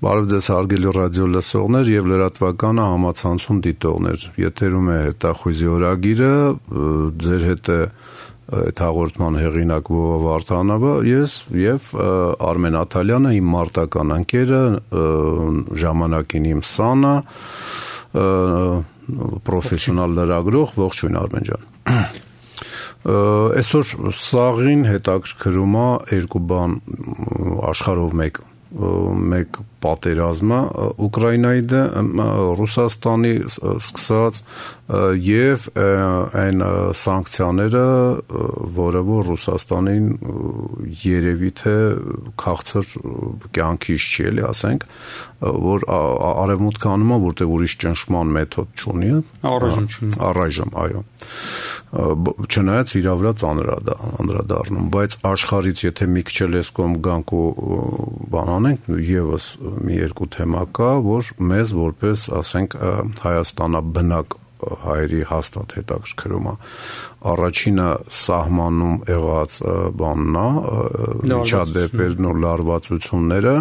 Բարև ձեզ հարգելի ռադիո լսողներ եւ լրատվականը համացանցում դիտողներ։ Եթերում է հետախույզի օրագիրը, ձեր հետ է այդ հաղորդման հեղինակ Վովա Վարդանովը, ես եւ Արմեն Աթալյանը, իմ մարտական ընկերը, ժամանակին իմ սանը, պրոֆեսիոնալ լրագրող, ողջույն Արմեն ջան։ Այսօր սաղին հետաքրքրում է երկու բան աշխարհով մեկ պատերազմը Ուկրաինայի դեմ Ռուսաստանի սկսած եւ այն սանկցիաները, որը որ Ռուսաստանին երևի թե քաղցր կյանքից չի էլի, ասենք, որ արևմուտքը անում է, որտեղ ուրիշ ճնշման մեթոդ չունի, առայժմ, այո։ Չնայած իր վրա անդրադառնում, բայց աշխարհից եթե մի քիչ էլ էս կողմ գանք ու բան անենք, եւս մի երկու թեմա կա, որ մեզ որպես, ասենք, Հայաստանաբնակ հայերի հաստատ հետաքրքրում է։ Առաջինը սահմանում եղած բանն է, միջադեպերն ու լարվածությունները,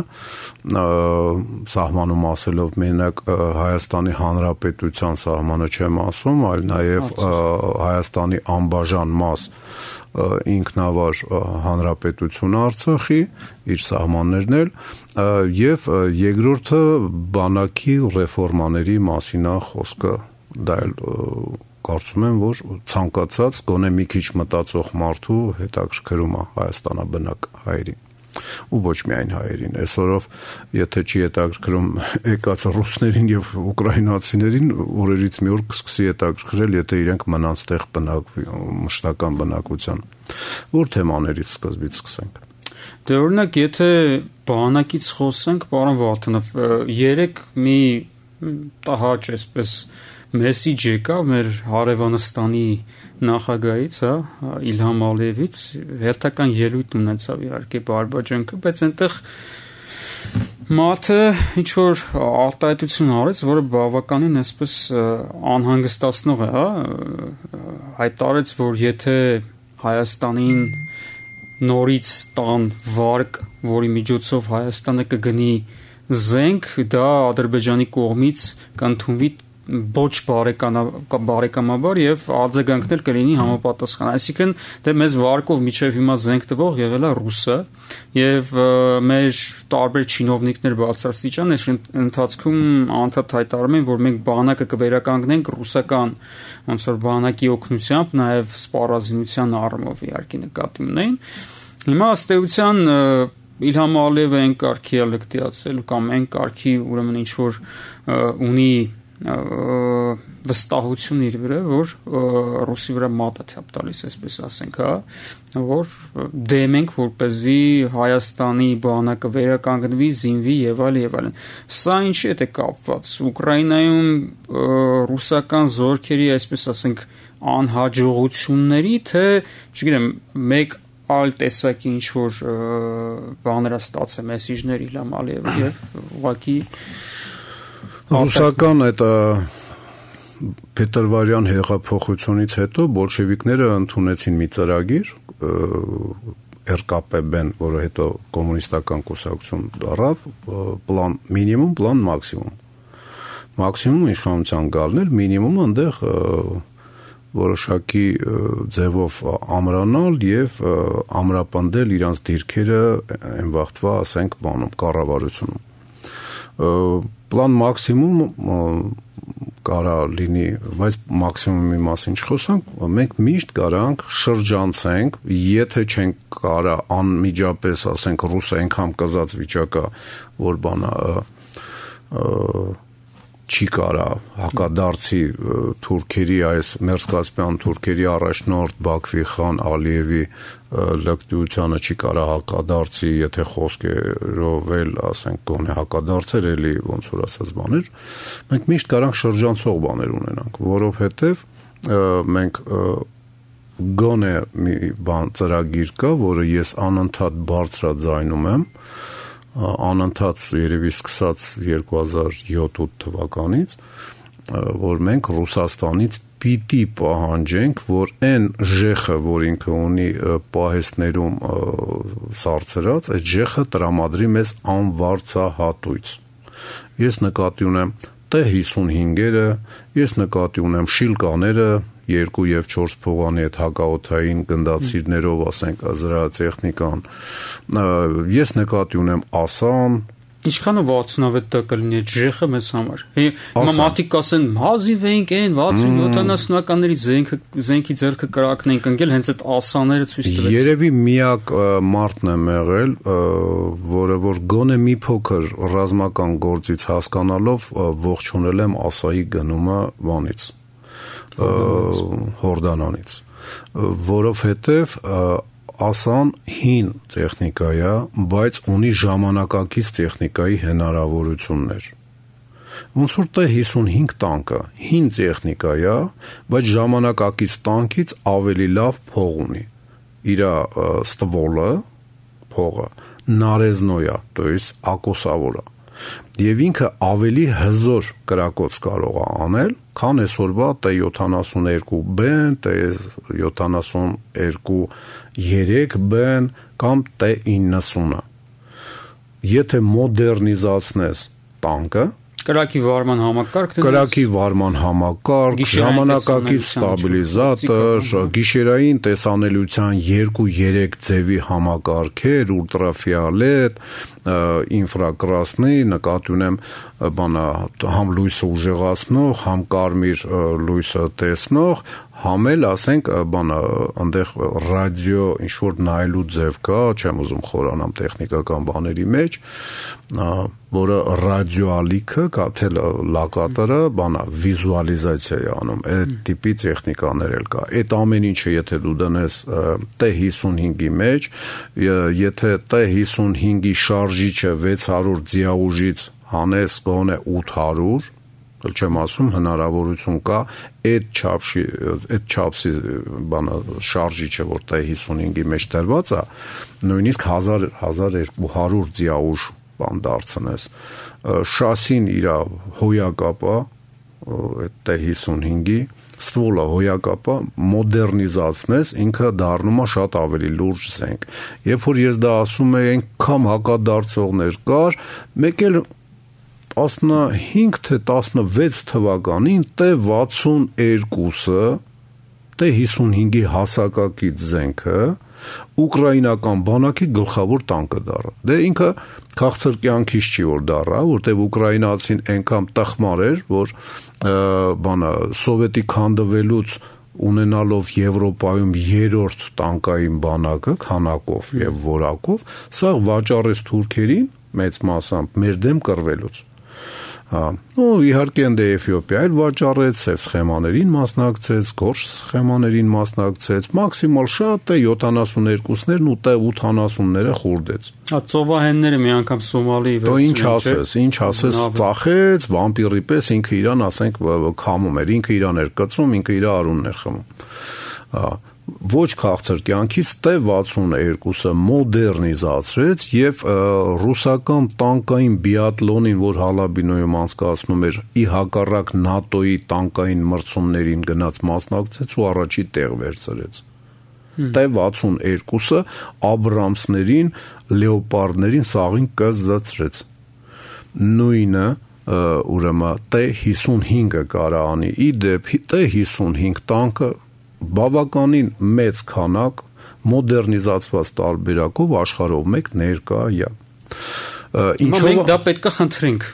սահմանում ասելով մենակ Հայաստանի Հանրապետության սահմանը չեմ ասում, այլ նաև Հայաստանի անբաժան մաս ինքնավար հանրապետություն Արցախի, իր սահմաններն էլ, եւ երկրորդը բանակի ռեֆորմաների մասին է խոսքը, դա էլ կարծում եմ, որ ցանկացած գոնե մի քիչ մտածող մարդու հետաքրքրում է Հայաստանաբնակ հայերին ու ոչ միայն հայերին, այսօրով եթե չի հետաքրքրում եկած ռուսներին եւ ուկրաինացիներին, օրերից մի օր կսկսի հետաքրքրել, եթե իրենք մնան ստեղ մշտական բնակության։ Որ թեմաներից սկզբից սկսենք։ Դե օրինակ, եթե բանակից խոսենք, պարոն Վարդանով, երեք մի տհաճ այսպես մեսիջ եկավ մեր Հարևանստանի նախագահից, Իլհամ Ալիևից, հերթական ելույթ ունեցավ իհարկե Բարբաջանքը, բայց այնտեղ մարդը ինչ որ արտահայտություն արեց, որը բավականին այսպես անհանգստացնող է, հայտարարեց, որ եթե Հայաստանին նորից տան վարկ, որի միջոցով Հայաստանը կգնի զենք, դա Ադրբեջանի կողմից կընդունվի ոչ բարեկամաբար եւ արձագանքներ կլինի համապատասխան, այսինքն դե մեզ վարկով միջև հիմա զենք տվող եղել է ռուսը եւ մեր տարբեր չինովնիկներ բարձրաստիճան այս ընթացքում անդադ հայտարարում են, որ մենք բանակը կվերականգնենք ռուսական ոնց որ բանակի օգնությամբ, նաեւ սպառազինության առումով իհարկե նկատի ունեն։ Հիմա ըստ էության Իլհամ Ալիևը այն կարգի է լկտիացել կամ այն կարգի ուրեմն ինչ որ ունի վստահություն իր վրա, որ ռուսի վրա մատը թափ տալիս, այսպես ասենք, որ դեմենք, որպեսզի Հայաստանի բանակը վերականգնվի, զինվի եւ այլն։ Սա ինչի հետ է կապված։ Ուկրաինայում ռուսական զորքերի, այսպես ասենք, անհաջողությունների, թե, չգիտեմ, մեկ այլ տեսակի ինչ որ բաներ ստացել մեսիջներ Իլհամ Ալիևը եւ ուղղակի ռուսական այդ փետրվարյան հեղափոխությունից հետո բոլշևիկները ընդունեցին մի ծրագիր ՌԿՊԲ-ն, որը հետո կոմունիստական կուսակցություն դառավ, պլան մինիմում, պլան մաքսիմում։ Մաքսիմում իշխանության գալնել, մինիմումը այնտեղ որոշակի ձևով ամրանալ եւ ամրապնդել իրանց դիրքերը այն վաղտվա, ասենք, բանում կառավարությունում։ Պլան մաքսիմում կարա լինի, բայց մաքսիմումի մասին չխոսանք, մենք միշտ կարանք շրջանցենք, եթե չենք կարա անմիջապես, ասենք, ռուսը այնքան կզած վիճակա, որ բանա չի կարա հակադարձի թուրքերի այս մերձկասպյան թուրքերի առաջնորդ Բաքվի խան Ալիևի լկտիությանը չի կարա հակադարձի, եթե խոսքերով էլ, ասենք, գոնե հակադարձեր էլի ոնց որ ասած բաներ, մենք միշտ կարանք շրջանցող բաներ ունենանք, որովհետև մենք գոնե մի բան ծրագիր կա, որը ես անընդհատ բարձրաձայնում եմ, անընդհատ երևի սկսած 2007-8 թվականից, որ մենք Ռուսաստանից պիտի պահանջենք, որ այն ժեխը, որ ինքը ունի պահեստներում սարցրած, այդ ժեխը տրամադրի մեզ անվարձահատույց, Ես նկատի ունեմ T-55-երը, ես նկատի ունեմ շիլկաները, 2 եւ 4 փողանի այդ հակաօդային գնդացիրներով, ասենք, զրահատեխնիկան, ես նկատի ունեմ ասան, Ինչքանով 67 կլինի այդ ժեխը մեզ համար։ Հիմա մարդիկ ասեն, հազիվ էինք այն 60-70-ականների զենքի ձեռքը կրակն ենք ընկել, հենց այդ ասաները ցույց տվեց։ Երևի միակ մարդն եմ եղել, որը որ գոնե մի փոքր ռազմական գործից հասկանալով ողջունել եմ ասայի գնումը բանից, Հորդանանից, որովհետև ասան հին տեխնիկա է, բայց ունի ժամանակակից տեխնիկայի հնարավորություններ։ Ոնց որ T-55 տանկը հին տեխնիկա է, բայց ժամանակակից տանկից ավելի լավ փող ունի։ Իր ստվոլը, փողը նարեզնոյ է, то есть ակոսավոր է։ Եվ ինքը ավելի հզոր կրակոց կարող է անել, քան այսօրվա T-72B-ն, T-72-3B-ն կամ T-90-ը։ Եթե մոդեռնիզացնես տանկը, կրակի վարման համակարգ, ժամանակակից ստաբիլիզատոր, գիշերային տեսանելիության 2-3 ձևի համակարգեր, ուլտրաֆիոլետ, ինֆրակրասնի, նկատի ունեմ համ լույսը ուժեղացնող, համ կարմիր լույսը տեսնող, համ էլ ասենք այնտեղ ռադիո ինչ որ նայելու ձև կա, չեմ ուզում խորանամ տեխնիկական բաների մեջ, որը ռադիոալիքը կամ թե լոկատորը վիզուալիզացիա է անում, այդ տիպի տեխնիկաներ էլ կա։ Այդ ամեն ինչը եթե դու դնես T-55-ի մեջ, եթե T-55-ի շարժիչը 600 ձիաուժից հանես գոնե 800, չեմ ասում հնարավորություն կա այդ չափսի շարժիչը որ T-55-ի մեջ դրված է, նույնիսկ 1000-1200 ձիաուժ դարձնես, շասին իր հոյակապա այդ T-55-ի ստվոլը հոյակապա մոդեռնիզացնես, ինքը դառնում է շատ ավելի լուրջ զենք։ Երբ որ ես դա ասում եմ, այնքան հակադարձողներ կար, մեկ էլ 15 թե 16 թվականին T-62-ը, T-55-ի հասակակից զենքը ուկրաինական բանակի գլխավոր տանկը դառավ։ Դե ինքը քաղցր կյանքից չի որ դառավ, որտեղ ուկրաինացին այնքան տխմար էր, որ սովետի քանդվելուց ունենալով Եվրոպայում 3-րդ տանկային բանակը քանակով եւ որակով, սա վաճառեց թուրքերին մեծ մասամբ մեր դեմ կռվելուց։ Իհարկե ընդ Էթիոպիա էլ վաճառեց, սև սխեմաներին մասնակցեց, գորշ սխեմաներին մասնակցեց, մաքսիմալ շատ T-72-ներն ու T-80-ները խուրդեց։ Ծովահենները մի անգամ Սոմալի ինչ ասես, ծախեց, վամպիրի պես ինքը իրան, ասենք, քամում էր, ինքը իրան էր կծում, ինքը իր արունն էր խմում։ Ոչ քաղցր կյանքից T-62-ը մոդեռնիզացրեց եւ ռուսական տանկային բիատլոնին, որ Հալաբինոյում անցկացնում էր, ի հակառակ ՆԱՏՕ-ի տանկային մրցումներին գնաց մասնակցեց ու առաջի տեղ վերցրեց։ T-62-ը Աբրամսներին, Լեոպարդներին սաղին կզծրեց։ Նույնը ուրեմն T-55-ը կարա անի։ Ի դեպ T-55 տանկը բավականին մեծ քանակ մոդեռնիզացված տարբերակով աշխարհով մեկ ներկա է։ Մենք դա պետք է խնդրենք։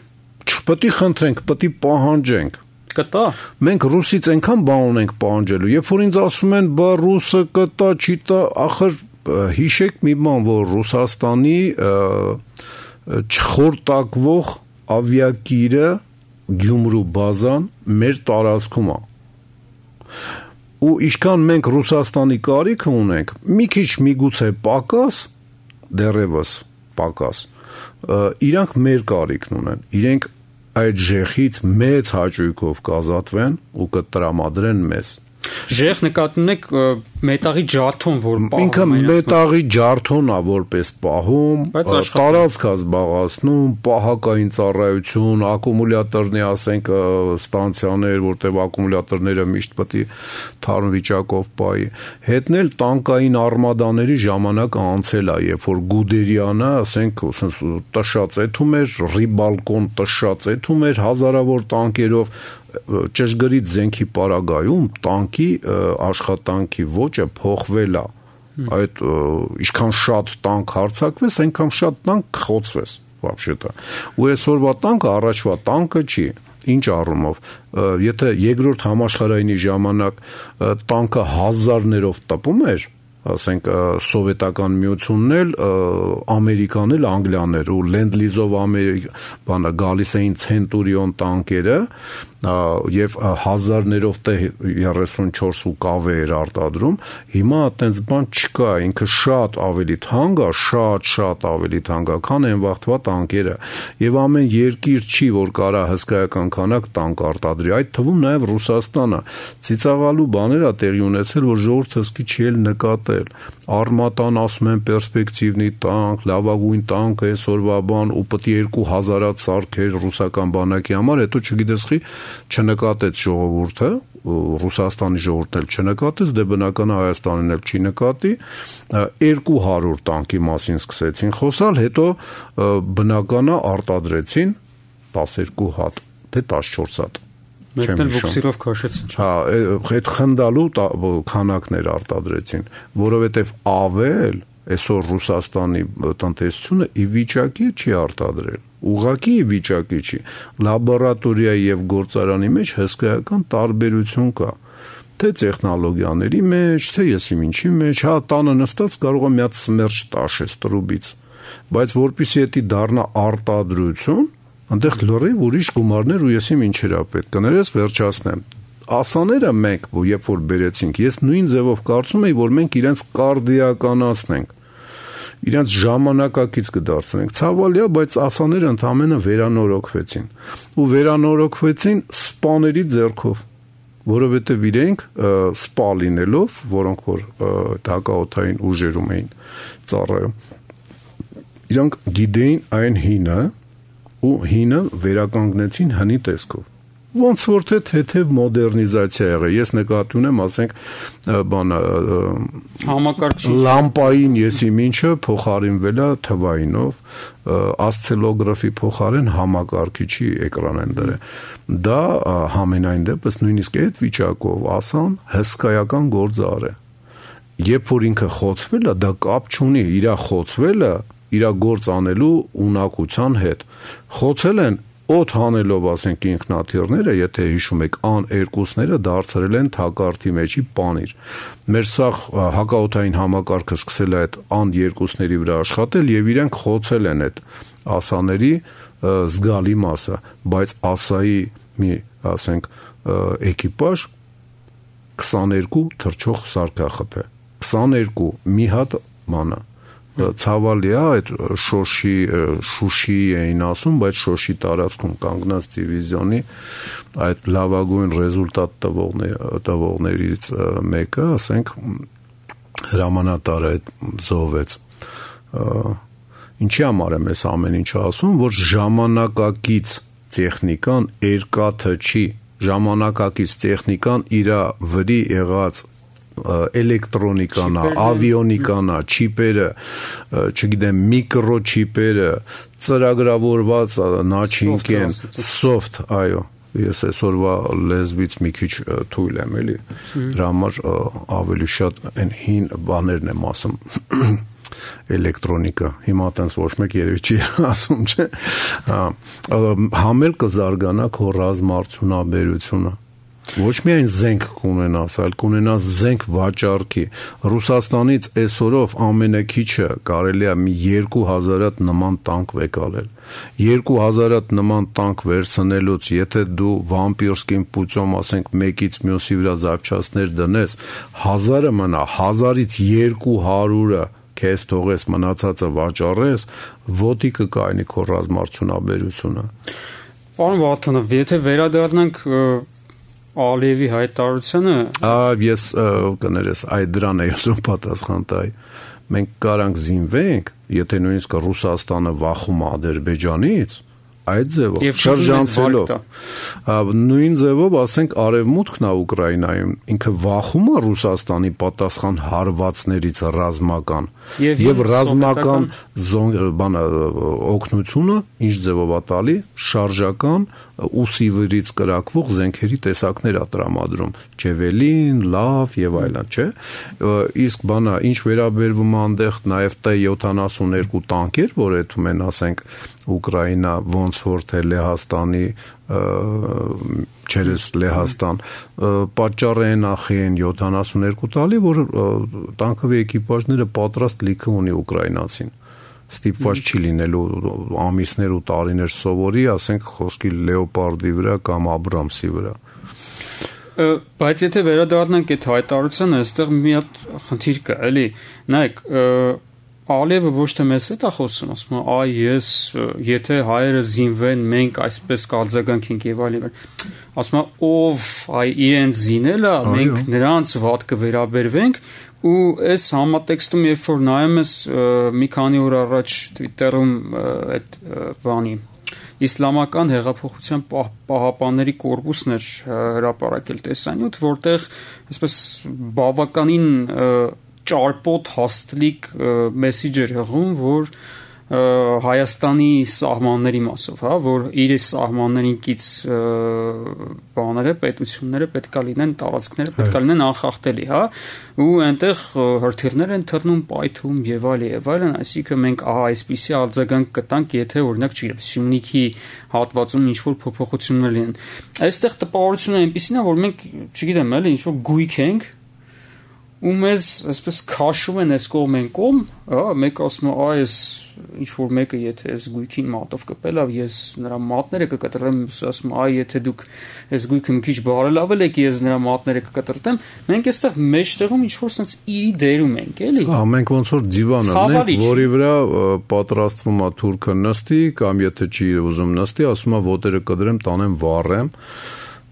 Չպետք է խնդրենք, պետք է պահանջենք։ Կտա։ Մենք ռուսից այնքան բան ունենք պահանջելու, երբ որ ինձ ասում են, բա ռուսը կտա, չի տա, ախր հիշեք մի բան, որ Ռուսաստանի չխորտակվող ավիակիրը Գյումրու բազան մեր տարածքում է։ Ու ինչքան մենք Ռուսաստանի կարիքը ունենք, մի քիչ միգուցե պակաս, դեռևս պակաս, իրանք մեր կարիքն ունեն, իրենք այդ ժեխից մեծ հաճույքով կազատվեն ու կտրամադրեն մեզ։ Ժեղ նկատում եք մետաղի ջարդոն, որ պահում ինքը մետաղի ջարդոնն է որպես պահում, տարածք է զբաղացնում, պահակային ծառայություն, ակումուլյատորների, ասենք, ստանցիաներ, որտեղ ակումուլյատորները միշտ պետք է թարմ վիճակով պահի։ Հետնել տանկային արմադաների ժամանակը անցել է, երբ որ Գուդերյանը, ասենք, տշած էթում էր, Ռիբալկոն տշած էթում էր հազարավոր տանկերով, ճշգրիտ զենքի պարագայում տանկի աշխատանքի ոճը փոխվել է, այդ ինչքան շատ տանկ հարձակվես, այնքան շատ տանկ խոցվես, вообще-то, ու այսօրվա տանկը առաջվա տանկը չի, ինչ առումով, եթե երկրորդ համաշխարհայինի ժամանակ տանկը հազարներով տպում էր, ասենք սովետական միությունն էլ, ամերիքան էլ, անգլիաներ ու լենդ-լիզով գալիս էին ցենտուրիոն տանկերը եւ հազարներով 34 ու կավե էր արտադրում, հիմա այդպես բան չկա, ինքը շատ ավելի թանկ է, շատ ավելի թանկ է, քան այն վաղտվա տանկերը եւ ամեն երկիր չի, որ կարա հսկայական քանակ տանկ արտադրի, այդ թվում նաեւ Ռուսաստանը ծիծաղալու բաներ է տեղի ունեցել, որ ժողովուրդը սկի չի էլ նկատել, Արմատան ասում են պերսպեկտիվնի տանկ, լավագույն տանկը այսօրվա բան ու պետք է 2000-ած սարքեր ռուսական բանակի համար, հետո չգիտես խի չնկատեց ժողովուրդը, Ռուսաստանի ժողովուրդն էլ չնկատեց, դե բնական է Հայաստանն էլ չի նկատի, 200 տանկի մասին սկսեցին խոսալ, հետո բնական է արտադրեցին 12 հատ, թե 14 հատ։ Մեկն էլ բոքսիրով քաշեցին։ Հա, այդ խնդալու քանակներ արտադրեցին, որովհետև ավել այսօր Ռուսաստանի տնտեսությունը ի վիճակի չի արտադրել, ուղղակի ի վիճակի չի, լաբորատորիայի եւ գործարանի մեջ հսկայական տարբերություն կա, թե տեխնոլոգիաների մեջ, թե եսիմ ինչի մեջ, հա տանը նստած կարող է մի հատ սմերջ տաշես տրուբից, բայց որpիսի դա դառնա արտադրություն, այնտեղ լրիվ ուրիշ գումարներ ու եսիմ ինչեր է պետք, կներես վերջացնեմ։ Ասաները մենք, երբ որ բերեցինք, ես նույն ձևով կարծում եի, որ մենք իրենց կարդիականացնենք, իրենց ժամանակակից կդարձնենք, ցավալի է, բայց ասաները ընդամենը վերանորոգվեցին, ու վերանորոգվեցին սպաների ձեռքով, որովհետև իրենք սպա լինելով, որոնք որ հակաօդային ուժերում էին ծառայում, իրանք գիտեին այն հինը, ու հինը վերականգնեցին հնի տեսքով։ Ոնց որ թե թեթև մոդեռնիզացիա եղել։ Ես նկատի ունեմ, ասենք, համակարգիչ լամպային եսիմ ինչը փոխարինվել է թվայինով, ասցելոգրաֆի փոխարեն համակարգիչի էկրան են դրել։ Դա համենայն դեպս նույնիսկ այդ վիճակով ասան հսկայական գործ արել։ Երբ որ ինքը խոցվել է, դա կապ չունի, իր խոցվելը իր գործ անելու ունակության հետ։ Խոցել են օդ հանելով, ասենք, ինքնաթիռները, եթե հիշում եք, ան-2-ները դարձրել են թակարդի մեջի պանիր։ Մեր սաղ հակաօդային համակարգը սկսել է այդ ան-2-ների վրա աշխատել եւ իրենք խոցել են այդ ասաների զգալի մասը, բայց ասայի մի, ասենք, էկիպաժ 22 թռչող սարքախփ է։ 22 մի հատ մանա ցավալի է այդ Շուշի էին ասում, բայց Շոշի տարածքում կանգնած դիվիզիոնի այդ լավագույն ռեզուլտատ տվողներից մեկը, ասենք, հրամանատարը այդ զոհվեց։ Ինչի համար եմ ես ամեն ինչ ասում, որ ժամանակակից տեխնիկան երկաթը չի, ժամանակակից տեխնիկան իր վրի եղած էլեկտրոնիկան, ավիոնիկան, չիպերը, չգիտեմ, միկրոչիպերը, ծրագրավորված načինք են, soft, այո, ես այսօրվա լեզվից մի քիչ թույլ եմ, էլի, դրա համար ավելի շատ այն հին բաներն եմ ասում, էլեկտրոնիկա, հիմա տենց ոչ մեկ երևի չի ասում, չէ, համել կզարգանա քո ռազմարդյունաբերությունը, ոչ միայն զենք կունենաս, այլ կունենաս զենք վաճառքի։ Ռուսաստանից այսօրով ամենակիչը կարելի է մի 2000-ատ նման տանկ վեկալել։ 2000-ատ նման տանկ վերցնելուց, եթե դու վամպիրսկին պուծում, ասենք, մեկից մյուսի վրա զապչասներ դնես, 1000-ը մնա, 1000-ից 200-ը քեզ թողես մնացածը վաճառես, ոտի կկայնի քո ռազմարդյունաբերությունը։ Պարոն Վարդանով, եթե վերադառնանք Ալիևի հայտարարությունը ես կներես այդ դրան է ուզում պատասխան տալ մենք կարանք զինվենք եթե նույնիսկ Ռուսաստանը վախում է Ադրբեջանից այդ ձևով շրջանցելով նույն ձևով ասենք արևմուտքն է Ուկրաինայում ինքը վախում է Ռուսաստանի պատասխան հարվածներից ռազմական եւ ռազմական օգնությունը ինչ ձևով է տալի շարժական ուսի վրից կրակվող զենքերի տեսակներ է տրամադրում Ջևելին, լավ եւ այլն, չէ։ Իսկ բանա ինչ վերաբերվում է այնտեղ նաեւ T-72 տանկեր, որ այդում են, ասենք, Ուկրաինա ոնց որ թե Լեհաստանի չերես Լեհաստան պատճառը են ախի են 72 տալի, որ տանկովի էկիպաժները պատրաստ լիքը ունի ուկրաինացին ստիպված չի լինելու ամիսներ ու տարիներ սովորի, ասենք խոսքի Լեոպարդի վրա կամ Աբրամսի վրա։ Բայց եթե վերադառնանք այդ հայտարարությանը, այստեղ մի հատ խնդիր կա, էլի, նայեք, Ալիևը ոչ թե մեզ հետ է խոսում, ասում է, այ ես, եթե հայերը զինվեն, մենք այսպես կարձագանքենք եւ այլն։ Ասում է, ով այ իրենց զինել է, մենք նրանց վատ կվերաբերվենք ու այս համատեքստում երբ որ նայում ես մի քանի օր առաջ Twitter-ում այդ բանի իսլամական հեղափոխության պահապանների կորպուսն էր հրապարակել տեսանյութ, որտեղ այսպես բավականին ճարպոտ հաստլիկ մեսիջ էր հղում, որ Հայաստանի սահմանների մասով, հա, որ իր սահմաններին կից բաները, պետությունները պետքա լինեն, տարածքները պետքա լինեն անխախտելի, հա, ու այնտեղ հրթիռներ են թռնում, պայթում եւ այլն, այսինքն մենք այսպիսի արձագանք կտանք, եթե օրինակ, չգիտեմ, Սյունիքի հատվածում ինչ որ փոփոխություններ լինեն։ Այստեղ տպավորությունը այնպեսին է, որ մենք, չգիտեմ, էլի ինչ որ գույք ենք ու մեզ այսպես քաշում են այս կողմ են կողմ, հա, մեկ ասում է, այս ինչ որ մեկը եթե այս գույքին մատով կպել, ես նրա մատները կկտրեմ, ասում է, եթե դուք այս գույքը մի քիչ բարելավել եք, ես նրա մատները կկտրտեմ, մենք այստեղ մեջտեղում ինչ որ sense իրի դերում ենք, էլի։ Հա, մենք ոնց որ դիվան ունենք, որի վրա պատրաստվում է թուրքը նստի, կամ եթե չի ուզում նստի, ասում է ոտերը կդրեմ, տանեմ վառեմ,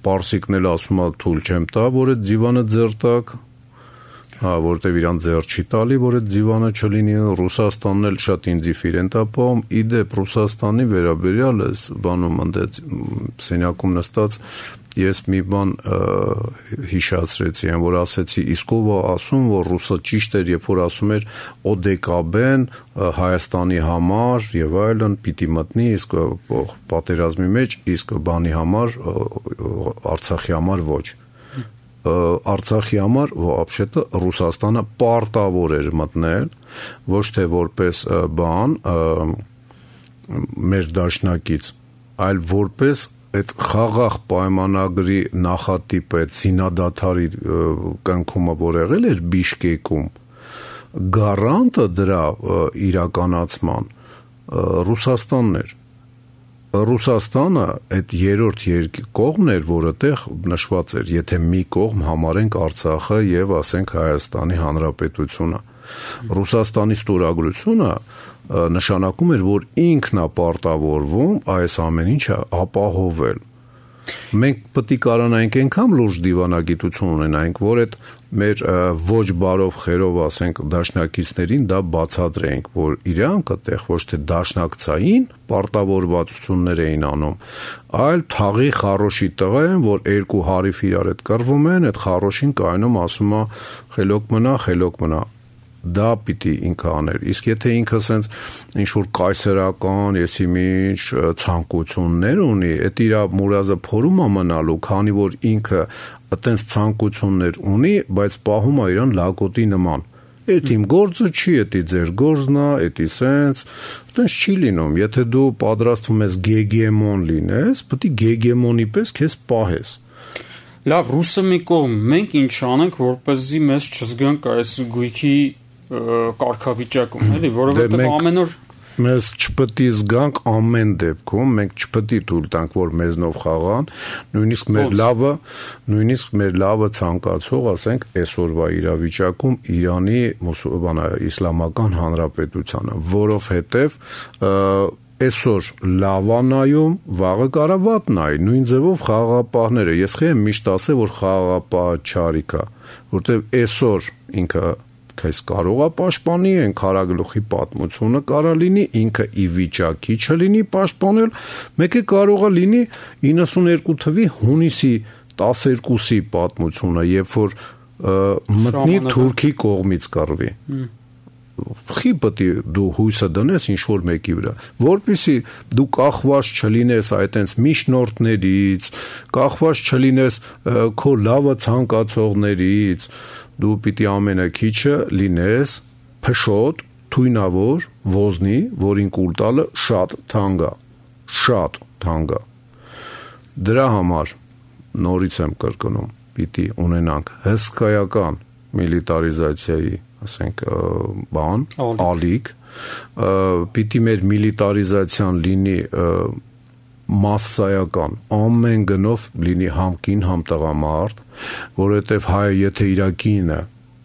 պարսիկն էլ ասում է թույլ չեմ տա, որ այդ դիվանը ձերտակ Հա, որտեվ իրան ձեռ չի տալի, որ այդ դիվանը չլինի, Ռուսաստանն էլ շատ ինձիֆիր են տապում, իդեպ Ռուսաստանի վերաբերյալ էս բանում ընդեց սենյակում նստած ես մի բան հիշացրեցի, որ ասեցի, իսկ ով ասում, որ ռուսը ճիշտ էր, երբ որ ասում էր օդեկաբեն Հայաստանի համար եւ այլն պիտի մտնի, իսկ պատերազմի մեջ, իսկ բանի համար Արցախի համար ոչ Արցախի համար вообще-то Ռուսաստանը պարտավոր էր մտնել ոչ թե որպես բան մեր դաշնակից, այլ որպես այդ խաղաղ պայմանագրի նախատիպ այդ զինադադարի կնքումը որ եղել էր Բիշկեկում գարանտը դրա իրականացման Ռուսաստանն էր Ռուսաստանը այդ երրորդ կողմն էր, որը տեղ նշված էր, եթե մի կողմ համարենք Արցախը եւ ասենք Հայաստանի Հանրապետությունը։ Ռուսաստանի ստորագրությունը նշանակում էր, որ ինքն է պարտավորվում այս ամեն ինչը ապահովել։ Մենք պետք է կարողանանք այնքան լուրջ դիվանագիտություն ունենանք, որ այդ մեր ոչ բարով խերով ասենք դաշնակիցներին դա բացատրենք, որ իրանք այդտեղ ոչ թե դաշնակցային պարտավորվածություններ էին անում, այլ թաղի խարոշի տղա են, որ երկու հարիվ իրար հետ կռվում են, այդ խարոշին կայնում ասում է խելոք մնա դա պիտի ինքը աներ, իսկ եթե ինքը սենց ինչ-որ կայսերական, եսի մինչ ցանկություններ ունի, այդ իրա մուրազը փորում է մնալու, քանի որ ինքը այտենց ցանկություններ ունի, բայց պահում է իրան լակոտի նման, այդ իմ գործը չի, էդի ձեր գործն է, էդի սենց, այտենց չի լինում, եթե դու պատրաստվում ես գեգեմոն լինես, պետք է գեգեմոնի պես քեզ պահես Լավ, ռուսը մի կողմ, մենք ինչ անենք, որպեսզի մեզ չզգանք այս գույքի կարգավիճակում, էլի, որովհետև ամեն օր մեզ չպետք է զգանք ամեն դեպքում, մենք չպետք է թույլ տանք, որ մեզնով խաղան, նույնիսկ մեր լավը ցանկացող, ասենք, այսօրվա իրավիճակում Իրանի Իսլամական Հանրապետությանը, որովհետև այսօր լավանայում, վաղը կարա վատ նայի, նույն ձևով խաղաղապահները, ես խեմ միշտ ասել, որ խաղաղապահը չարիք է, որտեվ այսօր ինքը քեզ կարող է պաշտպանի, այն քարագլուխի պատմությունը կարա լինի, ինքը ի վիճակի չլինի պաշտպանել, մեկը կարող է լինի 92 թվի հունիսի 12-ի պատմությունը, երբ որ մտնի Թուրքի կողմից կռվի։ Խի պետք է դու հույսը դնես ինչ որ մեկի վրա, որպեսզի դու կախված չլինես այտենց միջնորդներից, կախված չլինես քո լավը ցանկացողներից, դու պիտի ամենակիչը լինես փշոտ, թույնավոր, ոզնի, որին կուլ տալը շատ թանկ է։ Դրա համար նորից եմ կրկնում, պիտի ունենանք հսկայական միլիտարիզացիայի, ասենք, ալիք, պիտի մեր միլիտարիզացիան լինի մասսայական, ամեն գնով լինի համ կին, համ տղամարդ, որովհետև հայը եթե իր կինը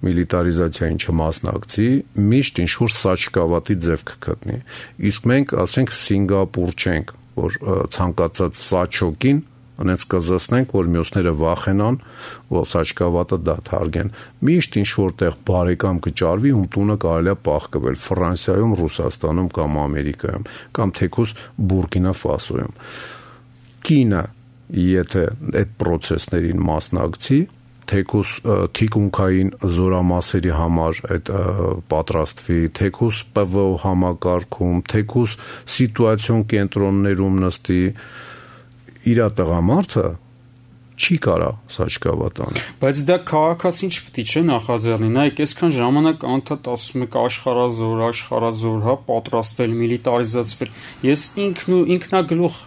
միլիտարիզացիային չմասնակցի, միշտ ինչ-որ սաճկավատի ձև կգտնի, իսկ մենք, ասենք, Սինգապուր չենք, որ ցանկացած սաճոկին անենց կզսնենք, որ մյուսները վախենան, որ սաճկավատը դադարեն, միշտ ինչ-որ տեղ բարեկամ կճարվի, ում տունը կարելի է պահկվել, Ֆրանսիայում, Ռուսաստանում կամ Ամերիկայում, կամ թեկուզ Բուրկինա Ֆասոյում։ Կինը, եթե այդ պրոցեսներին մասնակցի, թեկուզ թիկունքային զորամասերի համար այդ պատրաստվի, թեկուզ ՊՎՕ համակարգում, թեկուզ սիտուացիոն կենտրոններում նստի, իր տղամարդը չի կարա սաճկավատ անել։ Բայց դա քաղաքացին չպետք է նախաձեռնի, նայեք, այսքան ժամանակ անդադ ասում եք աշխարհազոր, հա, պատրաստվել, միլիտարիզացվել։ Ես ինքնագլուխ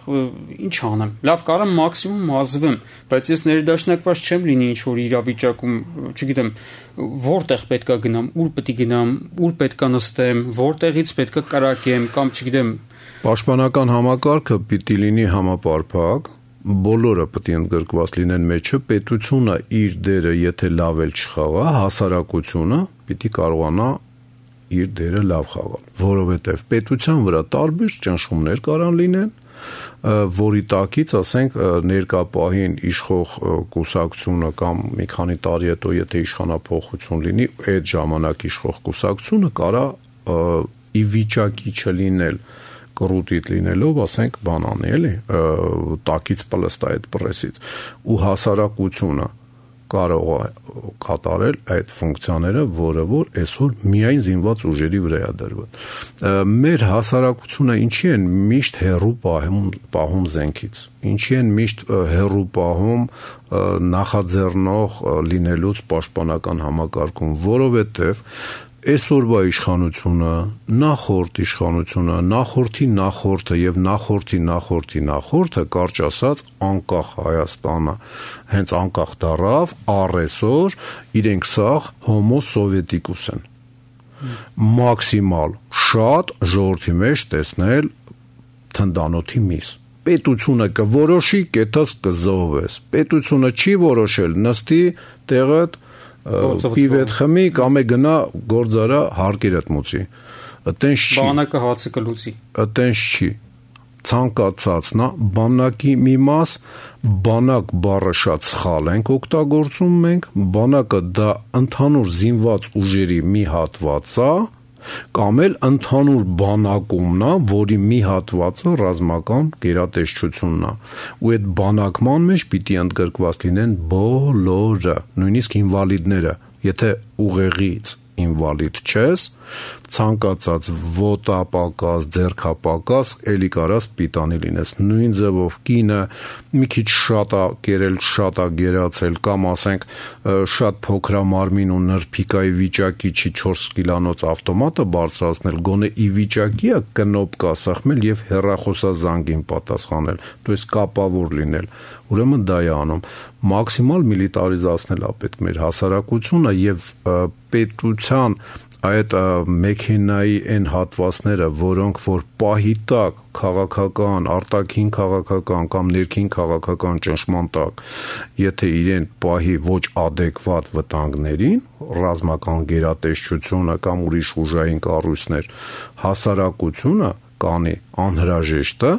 ինչ անեմ։ Լավ, կարամ մաքսիմում ազվեմ, բայց ես ներդաշնակված չեմ լինի ինչ որ իրավիճակում, չգիտեմ, որտեղ պետքա գնամ, ուր պետք է գնամ, ուր պետքա նստեմ, որտեղից պետքա կրակեմ կամ չգիտեմ։ Պաշտպանական համակարգը պիտի լինի համապարփակ, բոլորը պետք է ընդգրկված լինեն մեջը, պետությունը իր դերը եթե լավ էլ չխաղա, հասարակությունը պիտի կարողանա իր դերը լավ խաղալ, որովհետև պետության վրա տարբեր ճնշումներ կարան լինեն, որի տակից, ասենք, ներկապահին իշխող կուսակցությունը կամ մի քանի տարի հետո եթե իշխանափոխություն լինի, այդ ժամանակ իշխող կուսակցությունը կարա ի վիճակի չլինել կռուտիտ լինելով, ասենք, բանանի, էլի, տակից պլստա այդ պրեսից, ու հասարակությունը կարող է կատարել այդ ֆունկցիաները, որը որ այսօր միայն զինված ուժերի վրա է դրված։ Մեր հասարակությունը ինչի են միշտ հեռու պահում զենքից, ինչի են միշտ հեռու պահում նախաձեռնող լինելուց պաշտպանական համակարգում, որովհետև այսօրվա իշխանությունը, նախորդ իշխանությունը, նախորդի նախորդը եւ նախորդի նախորդը, կարճ ասած, անկախ Հայաստանը, հենց անկախ դառավ, առեսօր իրենք սաղ հոմո սովետիկուս են։ Մաքսիմալ շատ ժողովրդի մեջ տեսնել թնդանոթի միս։ Պետությունը կորոշի, կետած կզոհվես։ Պետությունը չի որոշել, նստի տեղդ պիվետ խմի կամ է գնա գործարա հարկերդ մուծի։ Այտենց չի։ Բանակը հացը կլուծի։ Այտենց չի։ Ցանկացածնա բանակի մի մաս, բանակ բառը շատ սխալ ենք օգտագործում մենք, բանակը դա ընդհանուր զինված ուժերի մի հատված է, կամ էլ ընդհանուր բանակումն է, որի մի հատվածը ռազմական գերատեսչությունն է, ու այդ բանակման մեջ պիտի ընդգրկված լինեն բոլորը, նույնիսկ ինվալիդները, եթե ուղեղից ինվալիդ չես, ցանկացած ոտապակաս, ձեռքապակաս, էլի կարաս պիտանի լինես, նույն ձևով կինը մի քիչ շատ է կերել, շատ է գերացել, կամ ասենք շատ փոքրամարմին ու նրբիկայի վիճակի չի 4 կիլանոց ավտոմատը բարձրացնել, գոնե ի վիճակի է կնոպկա սեղմել եւ հեռախոսազանգին պատասխանել, դու ես կապավոր լինել, ուրեմն դա է անում, մաքսիմալ միլիտարիզացնել է պետք մեր հասարակությունը եւ պետության այդ մեքենայի այն հատվածները, որոնք որ պահի տակ քաղաքական, արտաքին քաղաքական կամ ներքին քաղաքական ճնշման տակ, եթե իրեն պահի ոչ adekvat վտանգներին, ռազմական գերատեսչությունը կամ ուրիշ ուժային կառույցներ, հասարակությունը կանի անհրաժեշտը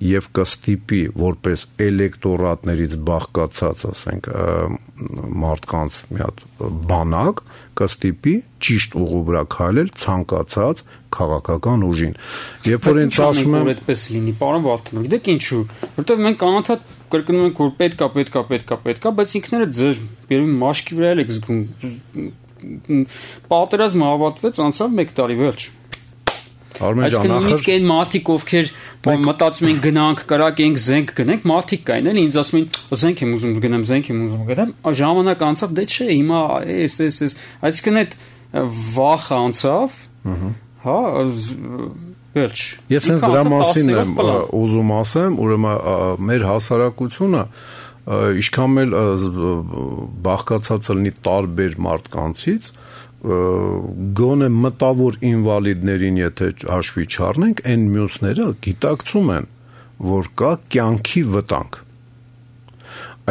եւ կստիպի որպես էլեկտորատներից բաղկացած, ասենք, մարդկանց մի հատ բանակ կստիպի ճիշտ ուղու վրա քայլել ցանկացած քաղաքական ուժին։ Երբ որ ինձ ասում եմ, այդպես լինի, պարոն Վարդանov, գիտեք ինչու, որտեղ մենք անընդհատ կրկնում ենք, որ պետքա, բայց ինքները ձեր երևի մաշկի վրա եք զգում։ Պատերազմը ավարտվեց, անցավ 1 տարի, վերջ։ Այսինքն նույնիսկ այն մարդիկ, ովքեր մտածում են գնանք, կրակենք, զենք գնենք, մարդիկ կային, էլի ինձ ասում են, զենք եմ ուզում գնամ, ժամանակ անցավ, դե չէ, հիմա էս, այսինքն այդ վախը անցավ, հա, վերջ։ Ես հենց դրա մասին եմ ուզում ասեմ, ուրեմն մեր հասարակությունը ինչքան էլ բաղկացած լինի տարբեր մարդկանցից, գոնե մտավոր ինվալիդներին եթե հաշվի չառնենք, այն մյուսները գիտակցում են, որ կա կյանքի վտանգ։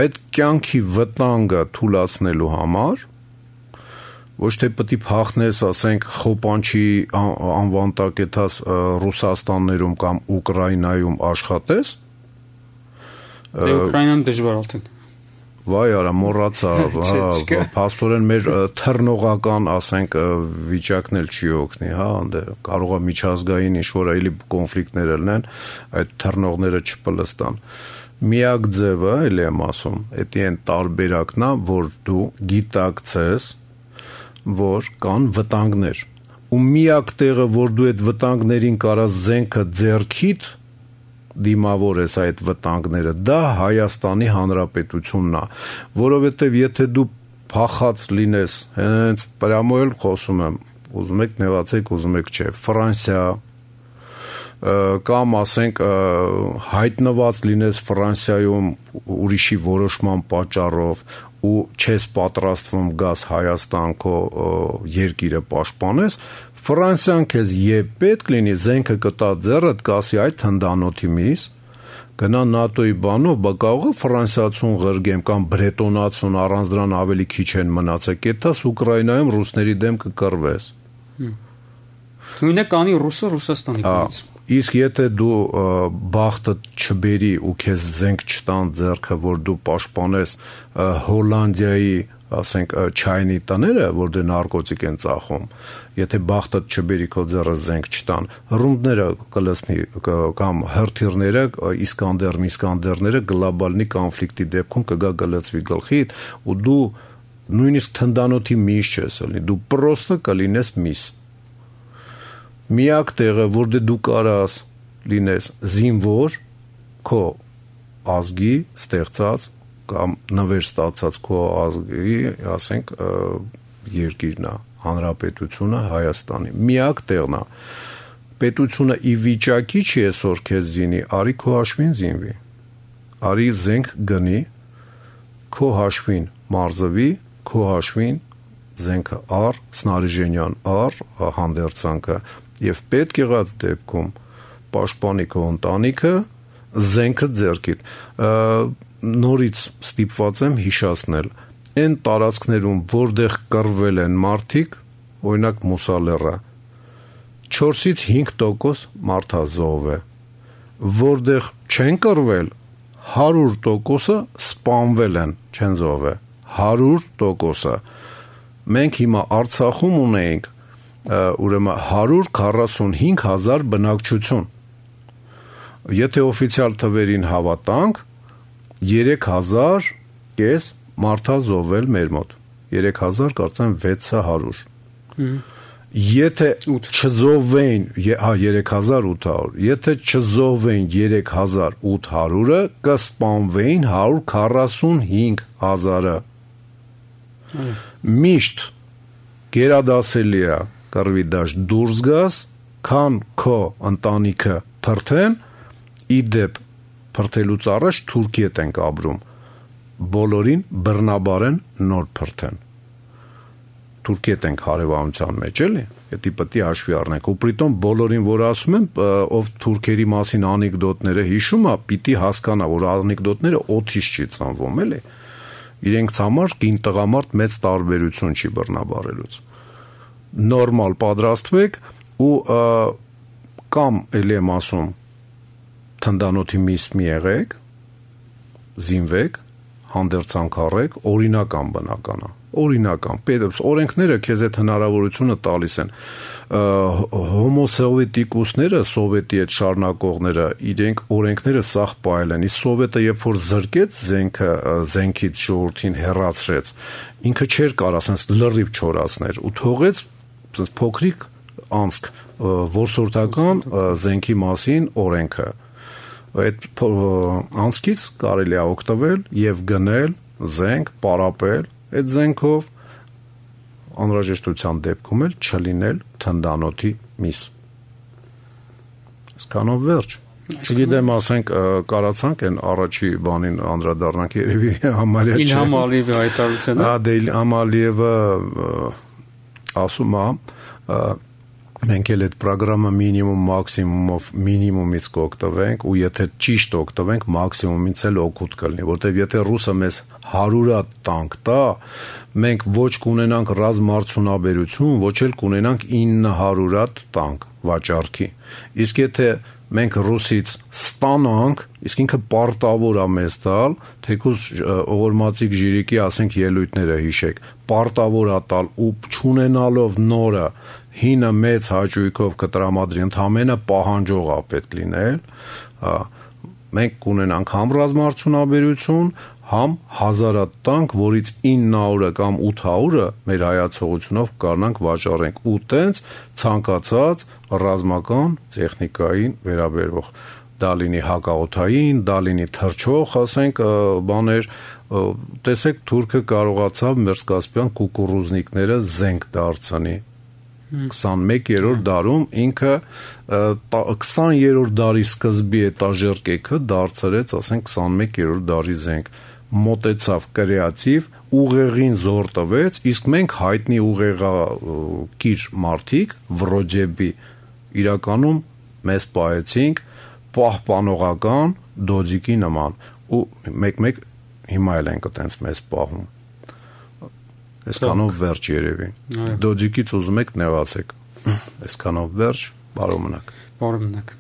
Այդ կյանքի վտանգը թույլատնելու համար ոչ թե պետք է փախնես, ասենք, Խոպանչի անվան տակ եթաս Ռուսաստաններում կամ Ուկրաինայում աշխատես։ Ուկրաինան դժվար արդեն։ Վայ արա, մոռացա, փաստորեն մեր թռնողական, ասենք, վիճակն էլ չի օգնի, հա, կարող է միջազգային ինչ-որ այլ կոնֆլիկտներ լինեն, այդ թռնողները չպլստան։ Միակ ձևը, էլ եմ ասում, դա այն տարբերակն է, որ դու գիտակցես, որ կան վտանգներ, ու միակ տեղը, որ դու այդ վտանգներին կարաս զենքը ձեռքիդ դիմավոր ես այդ վտանգները, դա Հայաստանի Հանրապետությունն է, որովհետև եթե դու փախած լինես, հենց պրամոյել խոսում եմ, ուզում եք նեղացեք, ուզում եք չէ, Ֆրանսիա, կամ ասենք հայտնված լինես Ֆրանսիայում ուրիշի որոշման պատճառով ու չես պատրաստվում գաս Հայաստան քո երկիրը պաշտպանես, Ֆրանսիան քեզ երբ պետք լինի զենքը կտա ձեռդ կասի այդ հնդանոթի միս, գնա ՆԱՏՕ-ի բանով, բա կարող է ֆրանսիացուն ղրգեմ կամ բրետոնացուն առանց դրան ավելի քիչ են մնացել, կետաս Ուկրաինայում ռուսների դեմ կկռվես։ Նույնը կանի ռուսը Ռուսաստանի կողմից։ Իսկ եթե դու բախտը չբերի ու քեզ զենք չտան ձեռքը, որ դու պաշտպանես Հոլանդիայի, ասենք, չայնի տները, որ դե նարկոտիկ են ծախում, եթե բախտը չբերի քո ձեռը զենք չտան, ռումբները կլսնի կամ հրթիռները, Իսկանդերները գլոբալնի կոնֆլիկտի դեպքում կգա գլծվի գլխիդ ու դու նույնիսկ թնդանոթի միս չես լինի, դու պրոստը կլինես միս։ Միակ տեղը, որ դու կարաս լինես զինվոր, քո ազգի ստեղծած կամ նվեր ստացած քո ազգի, ասենք, երկիրն է, հանրապետությունը Հայաստանի։ Միակ տեղն է։ Պետությունը ի վիճակի չի այսօր քեզ զինի, արի քո հաշվին զինվի։ Արի զենք գնի, քո հաշվին մարզվի, քո հաշվին զենքը առ, սնարիժենյան առ, հանդերձանքը եւ պետք եղած դեպքում պաշտպանի քո ընտանիքը, զենքը ձեռքիդ։ Նորից ստիպված եմ հիշացնել, այն տարածքներում, որտեղ կռվել են մարդիկ, օրինակ Մուսալեռը, 4-ից 5% մարդազոհ է, որտեղ չեն կռվել, 100%-ը սպանվել են, չեն զոհվել, 100%-ը։ Մենք հիմա Արցախում ունենք ուրեմն 145,000 բնակչություն։ Եթե օֆիցիալ թվերին հավատանք, 3,000 կես մարդազոհվել մեր մոտ, 3,000 կարծեմ 600։ Եթե չզոհվեին, 3800, եթե չզոհվեին 3800-ը, կսպանվեին 145,000-ը։ Միշտ գերադասելի է կռվի դաշտ դուրս գաս, քան քո ընտանիքը փրթեն, իդեպ փրթելուց առաջ Թուրքիետ ենք ապրում, բոլորին բռնաբարեն նոր փրթեն։ Թուրքիետ ենք հարևանության մեջ, էլի, դա պետք է հաշվի առնենք, ու պրիտոմ բոլորին, որ ասում եմ, ով թուրքերի մասին անեկդոտները հիշում է, պիտի հասկանա, որ անեկդոտները օդից չի ծնվում, էլի։ Իրենք համար կին տղամարդ մեծ տարբերություն չի բռնաբարելուց։ Նորմալ պատրաստվեք ու կամ ելի եմ ասում թնդանոթի միս մի եղեք, զինվեք, հանդերձանք առեք, օրինական բնականա, օրինական, օրենքները քեզ այդ հնարավորությունը տալիս են, հոմոսովետիկուսները, սովետի այդ շարունակողները, իրենք օրենքները սաղ պահել են, իսկ սովետը երբ որ զրկեց զենքից ժողովրդին հեռացրեց, ինքը չէր կարող ասենց լրիվ չորացներ ու թողեց փոքրիկ անցք որսորդական զենքի մասին օրենքը, այդ անցքից կարելի է օգտվել եւ գնել զենք, պարապել այդ զենքով անհրաժեշտության դեպքում էլ չլինել թնդանոթի միս։ Այսքանով վերջ։ Չգիտեմ, ասենք կարացանք այն առաջի բանին անդրադառնանք երևի համարյա չէ։ Իլհամ Ալիևի հայտարարությունը։ Դե Իլհամ Ալիևը ասում է մենք էլ այդ ծրագրամը մինիմում մաքսիմումով մինիմումից կօգտվենք ու եթե ճիշտ օգտվենք մաքսիմումից էլ օգուտ կլինի, որտեղ եթե ռուսը մեզ 100 տանկ տա, մենք ոչ կունենանք ռազմարդյունաբերություն, ոչ էլ կունենանք 900 տանկ վաճառքի։ Իսկ եթե մենք ռուսից ստանանք, իսկ ինքը պարտավոր է մեզ տալ, թեկուզ օղորմածիկ ժիրիկի ասենք ելույթները հիշեք, պարտավոր է տալ ու չունենալով նորը հինը մեծ հաճույքով կտրամադրի, ընդամենը պահանջող է պետք լինել, մենք կունենանք համ ռազմարդյունաբերություն, համ 1000 տանկ, որից 900 կամ 800 մեր հայացողությունով կարողանանք վաճառենք ու տենց ցանկացած ռազմական տեխնիկային վերաբերվող դա լինի հակաօդային, դա լինի թռչող, ասենք, բաներ, տեսեք թուրքը կարողացավ Մերսկասպյան կուկուռուզնիկները զենք դարձնի 21-րդ դարում ինքը 20-րդ դարի սկզբի էտաժերկեքը դարձրեց, ասենք 21-րդ դարի զենք, մոտեցավ կրեատիվ, ուղեղին զոր տվեց, իսկ մենք հայտնի ուղեղակիր մարդիկ, վրոջեբի, իրականում մեզ պահեցինք պահպանողական դոձիկի նման ու մեկ-մեկ հիմա էլ ենք այտենց մեզ պահում։ Այսքանով վերջ երևի։ Դոձիկից ուզում եք նեղացեք։ Այսքանով վերջ, բարով մնաք։ Բարով մնաք։